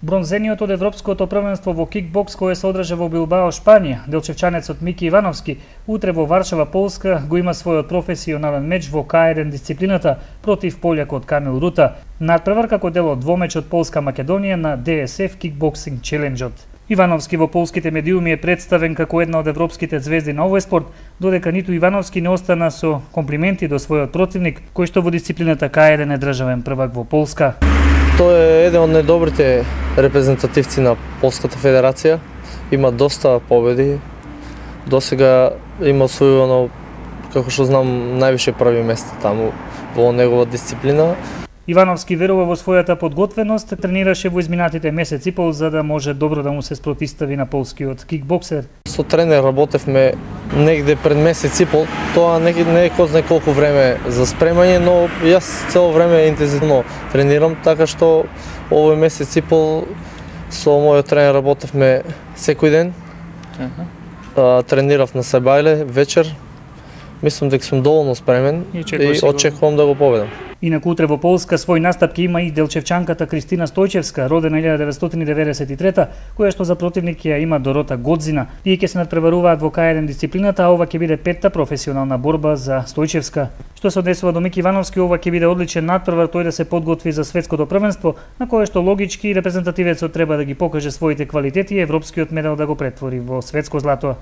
Бронзениот од Европското првенство во кикбокс кое се одржа во Билбао, Шпанија, делчевчанецот Мики Ивановски, утре во Варшава, Полска, го има својот професионален меч во К1 дисциплината против полјакот Камил Рута, надпревар како дел од двомечот Полска-Македонија на DSF Kickboxing Challenge-от. Ивановски во полските медиуми е представен како една од европските звезди на овој спорт, додека ниту Ивановски не остана со комплименти до својот противник, кој што во дисциплината К1 е државен првак во Полска. Тој е еден од најдобрите репрезентативци на Полската федерација. Има доста победи. Досега има освоено, како што знам, највише први места таму во негова дисциплина. Ивановски верува во својата подготвеност, тренираше во изминатите месеци пол за да може добро да му се спротистави на полскиот кикбоксер. Со тренер работевме негде пред месец и пол. Тоа не е кој знае колку време за спремање, но јас цело време интензивно тренирам, така што овој месец и пол со мојот тренер работевме секој ден. Тренирав на Сабајле вечер. Мислам дека сум доволно спремен и очекувам да го победам. Инаку утре во Полска свој настап ќе има и делчевчанката Кристина Стојчевска, родена 1993, која што за противник ја има Дорота Годзина. Тие ќе се надпреваруваат во К1 дисциплината, а ова ќе биде петта професионална борба за Стојчевска. Што се однесува до Мики Ивановски, ова ќе биде одличен надпревар тој да се подготви за светското првенство, на кое што логички репрезентативецот треба да ги покаже своите квалитети и европскиот медал да го претвори во светско злато.